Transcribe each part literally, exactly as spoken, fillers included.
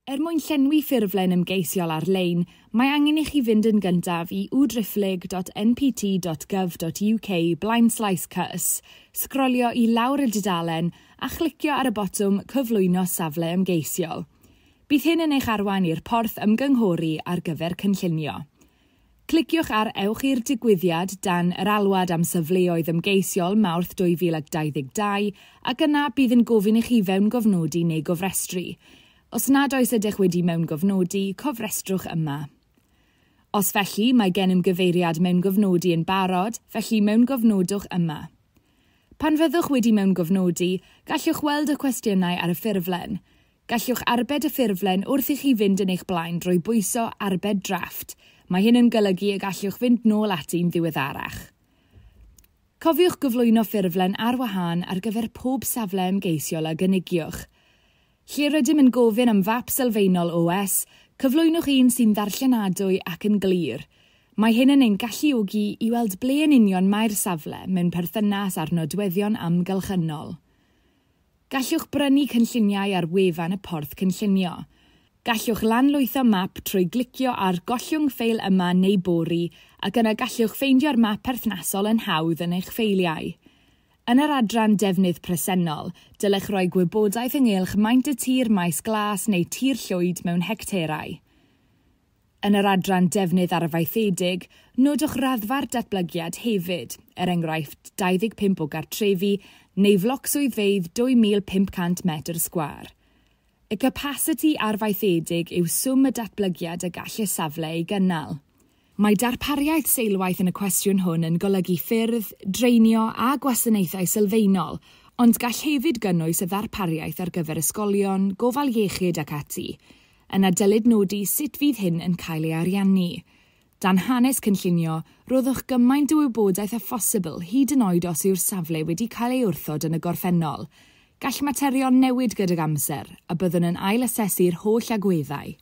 Er mwyn llenwi ffurflen ymgeisiol ar-lein, mae angen i chi fynd yn gyntaf i w driphlyg dot N P T dot gov dot U K blaenslaes C Y S, sgrolio i lawr y dudalen a chlicio ar y botwm Cyflwyno Safle Ymgeisiol. Bydd hyn yn eich arwain i'r porth ymgynghori ar gyfer cynllunio. Cliciwch ar Ewch i'r digwyddiad dan yr alwad am safleoedd ymgeisiol Mawrth dwy fil dau ddeg dau ac yna bydd yn gofyn i chi fewngofnodi neu gofrestru. Os nad oes ydych wedi mewngofnodi, cofrestrwch yma. Os felly, mae gennym gyfeiriad mewngofnodi yn barod, felly mewngofnodwch yma. Pan fyddwch wedi mewngofnodi, gallwch weld y cwestiynau ar y ffurflen. Gallwch arbed y ffurflen wrth i chi fynd yn eich blaen drwy bwyso Arbed Drafft. Mae hyn yn golygu y gallwch fynd nôl ati'n ddiweddarach. Cofiwch gyflwyno ffurflen ar wahân ar gyfer pob safle ymgeisiol a gynigiwch. Lle rydym yn gofyn am fap sylfaenol O S, cyflwynwch un sy'n ddarllenadwy ac yn glir. Mae hyn yn ein galluogi i weld ble yn union mae'r safle mewn perthynas â'r nodweddion amgylchynol. Gallwch brynu cynlluniau ar wefan y porth cynllunio. Gallwch lanlwytho map trwy glicio ar Gollwng ffeil yma neu bori ac yna gallwch ffeindio'r map perthnasol yn hawdd yn eich ffeiliau. Yn yr adran defnydd presennol, dylech roi gwybodaeth ynghylch maint y tir maes glas neu tir llwyd mewn hecterau. Yn yr adran defnydd arfaethedig, nodwch raddfa'r datblygiad hefyd, er enghraifft dau ddeg pump o gartrefi neu floc swyddfeydd dwy fil pump cant metr sgwâr. Y capasiti arfaethedig yw swm y datblygiad y gall y safle ei gynnal. Mae darpariaeth seilwaith yn y cwestiwn hwn yn golygu ffyrdd, dreinio a gwasanaethau sylfaenol, ond gall hefyd gynnwys y ddarpariaeth ar gyfer ysgolion, gofal iechyd ac ati. Yna dylid nodi sut fydd hyn yn cael ei ariannu. Dan hanes cynllunio, roddwch gymaint o wybodaeth â phosibl, hyd yn oed os yw'r safle wedi cael ei wrthod yn y gorffennol. Gall materion newid gydag amser, a byddwn yn ailasesu'r holl agweddau.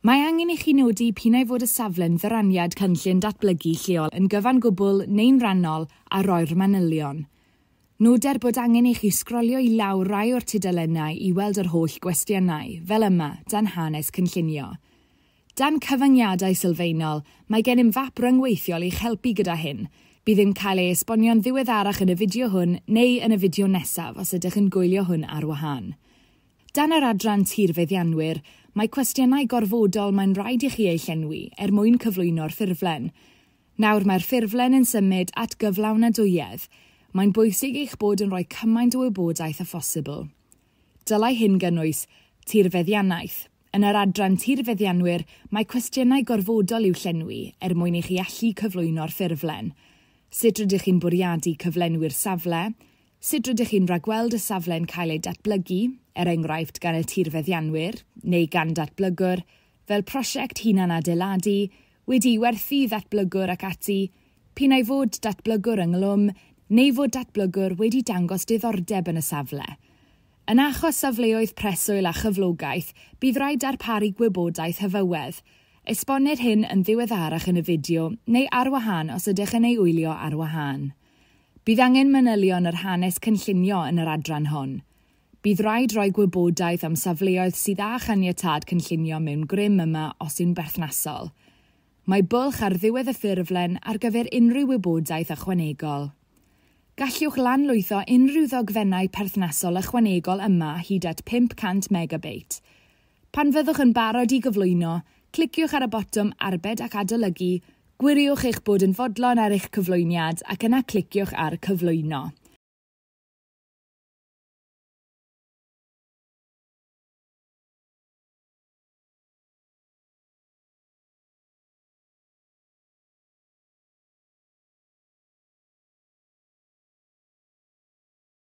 Mae angen i chi nodi p'un ai fod y safle'n ddyraniad cynllun datblygu lleol yn gyfan gwbl neu'n rhannol a roi'r manylion. Noder bod angen i chi sgrolio i lawr rai o'r tudalennau i weld yr holl gwestiynau, fel yma, dan hanes cynllunio. Dan cyfyngiadau sylfaenol, mae gennym fap ryngweithiol i'ch helpu gyda hyn. Bydd yn cael ei esbonio'n ddiweddarach yn y fideo hwn neu yn y fideo nesaf os ydych yn gwylio hwn ar wahân. Dan yr adran tirfeddianwyr, mae cwestiynau gorfodol mae'n rhaid i chi eu llenwi er mwyn cyflwyno'r ffurflen. Nawr mae'r ffurflen yn symud at gyflawnadwyedd. Mae'n bwysig eich bod yn rhoi cymaint o wybodaeth â phosibl. Dylai hyn gynnwys tirfeddiannaeth. Yn yr adran tirfeddianwyr, mae cwestiynau gorfodol i'w llenwi er mwyn i chi allu cyflwyno'r ffurflen. Sut rydych chi'n bwriadu cyflenwi'r safle? Sut rydych chi'n rhagweld y safle'n cael ei datblygu, er enghraifft gan y tirfeddianwyr neu gan datblygwr, fel prosiect hunan adeiladu, wedi werthu ddatblygwr ac ati, p'un ai fod datblygwr ynghlwm neu fod datblygwr wedi dangos diddordeb yn y safle. Yn achos safleoedd preswyl a chyflogaeth, bydd rhaid darparu gwybodaeth hyfywedd. Esbonnir hyn yn ddiweddarach yn y fideo neu ar wahân os ydych yn ei wylio ar wahân. Bydd angen manylion yr hanes cynllunio yn yr adran hon. Bydd rhaid rhoi gwybodaeth am safleoedd sydd â chaniatâd cynllunio mewn grym yma os yw'n berthnasol. Mae bwlch ar ddiwedd y ffurflen ar gyfer unrhyw wybodaeth ychwanegol. Gallwch lanlwytho unrhyw ddogfennau perthnasol ychwanegol yma hyd at pump cant megabeit. Pan fyddwch yn barod i gyflwyno, cliciwch ar y botwm Arbed ac Adolygu, gwiriwch eich bod yn fodlon ar eich cyflwyniad ac yna cliciwch ar Cyflwyno.